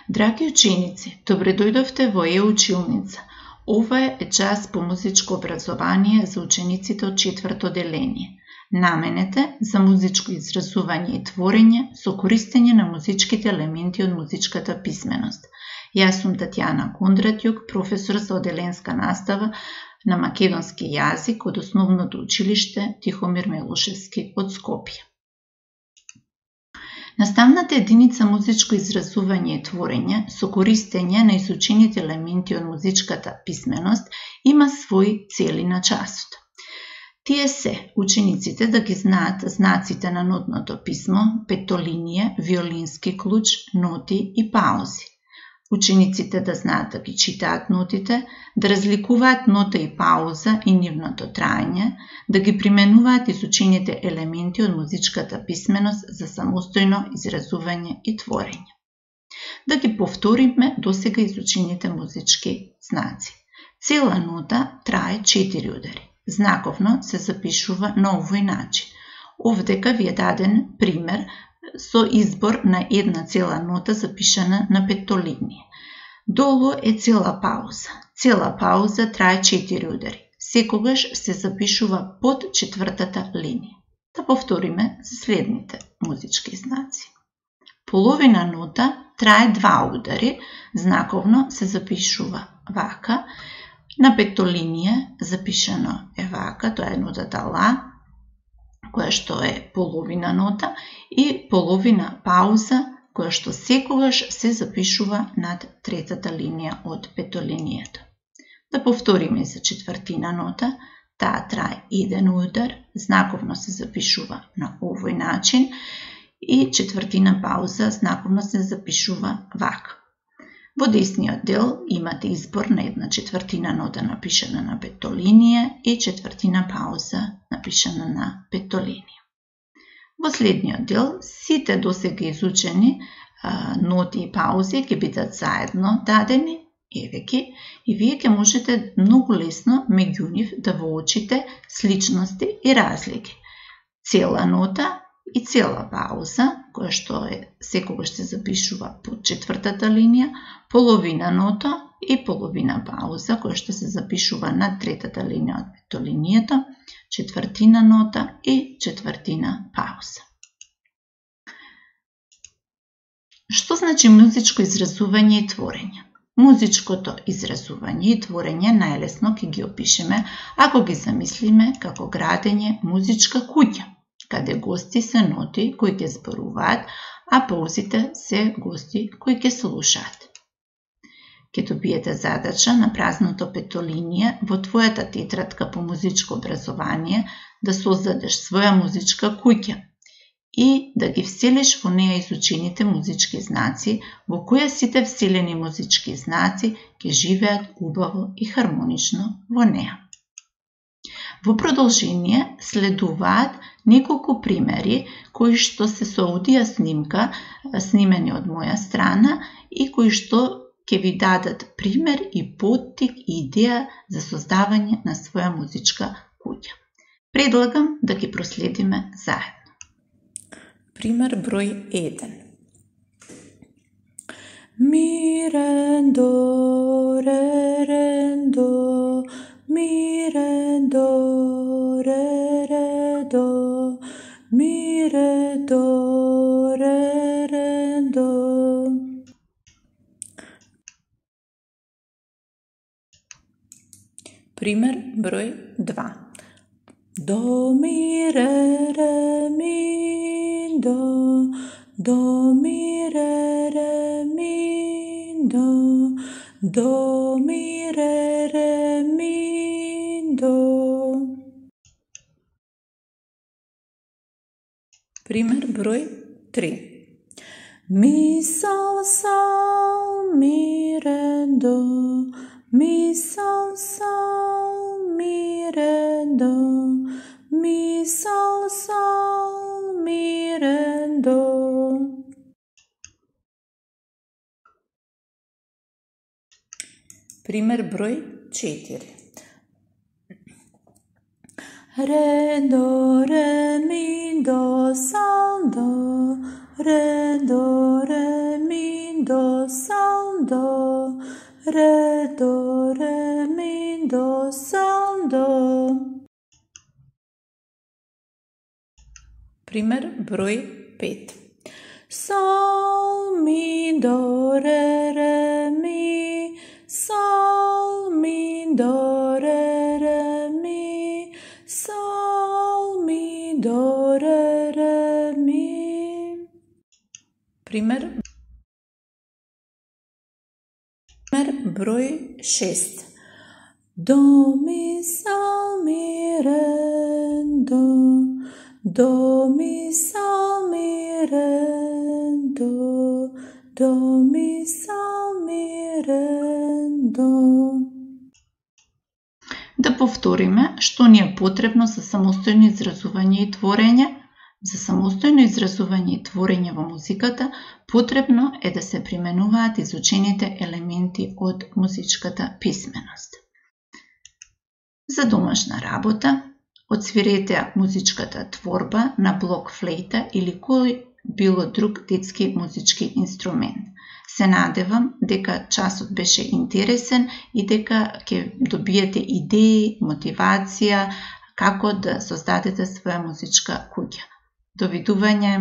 Драги ученици, добре дојдовте во Е-училница. Ова е час по музичко образование за учениците од 4-то деление. Наменете за музичко изразување и творење со користење на музичките елементи од музичката писменост. Јас сум Татјана Кондратјук, професор за оделенска настава на македонски јазик од Основното училиште Тихомир Милошевски од Скопје. Наставната единица музичко изразување и творење со користење на изучените елементи од музичката писменост има своји цели на часот. Тие се учениците да ги знаат знаците на нотното писмо, петолинија, виолински клуч, ноти и паузи. Учениците да знаат да ги читаат нотите, да разликуваат нота и пауза и нивното траење, да ги применуваат изучените елементи од музичката писменост за самостојно изразување и творење. Да ги повториме досега изучените музички знаци. Цела нота трае 4 удари. Знаковно се запишува на овој начин. Овдека ви е даден пример со избор на една цела нота запишана на петолинија. Долу е цела пауза. Цела пауза трае 4 удари. Секогаш се запишува под 4-тата линија. Да повториме следните музички знаци. Половина нота трае 2 удари. Знаковно се запишува вака. На петолинија запишано е вака, тоа е нотата ла, која што е половина нота, и половина пауза, која што секогаш се запишува над 3-та линија од петолинијата. Да повториме за 4-тина нота, таа трае 1 удар, знаковно се запишува на овој начин, и 4-тина пауза знаковно се запишува вака. Во десниот дел имате избор на 1/4 нота напишана на петолинија и 1/4 пауза напишана на петолинија. Во следниот дел сите досега изучени ноти и паузи ќе бидат заедно дадени, еве ги, и вие ќе можете многу лесно меѓу нив да воочите сличности и разлики. Цела нота и цела пауза, која што секогаш се запишува под 4-та линија, половина нота и половина пауза, која што се запишува над 3-та линија од петолинијата, 1/4 нота и 1/4 пауза. Што значи музичко изразување и творење? Музичкото изразување и творење најлесно ќе ги опишеме ако ги замислиме како градење музичка куќа, каде гости се ноти кои ќе зборуваат, а паузите се гости кои ќе слушаат. Ќе добиете задача на празното петолинија во твојата тетрадка по музичко образование да создадеш своја музичка куќа и да ги вселиш во неја изучените музички знаци, во која сите вселени музички знаци ќе живеат убаво и хармонично во неја. Во продолжение следуваат неколку примери кои што се со аудио снимка снимени од моја страна и кои што ќе ви дадат пример и поттик и идеја за создавање на своја музичка куќа. Предлагам да ги проследиме заедно. Пример број 1. Mi, re, do, re, do, mi, re, do, re, do, mi, re, do, re, do. Пример број 2. Do, mi, re, mi, do, do, mi, re, mi, do, do, mi, re, mi, do. Пример број 3. Mi, sol, sol, mi, re, do, mi, sol, sol, mi, re, do, mi, sol, sol, mi, re, do. Пример број 4. Re, do, re, mi, do, sol, do, re, do, re, mi, do, sol. ре, до, ре, ми, до, сол, до. Пример број 5. Sol, mi, do, re, mi, sol, mi, do, re, mi, sol, mi, do, re, mi. Пример број 6. Do, mi, sol, mi, re, do, mi, sol, mi, re, do, mi, sol, mi, re, do. Да повториме што ни е потребно за самостојно изразување и творење. За самостојно изразување и творење во музиката потребно е да се применуваат изучените елементи од музичката писменост. За домашна работа, отсвирете музичката творба на блок флейта или кој било друг детски музички инструмент. Се надевам дека часот беше интересен и дека ќе добиете идеи, мотивација како да создадете своја музичка куќа. Довидување!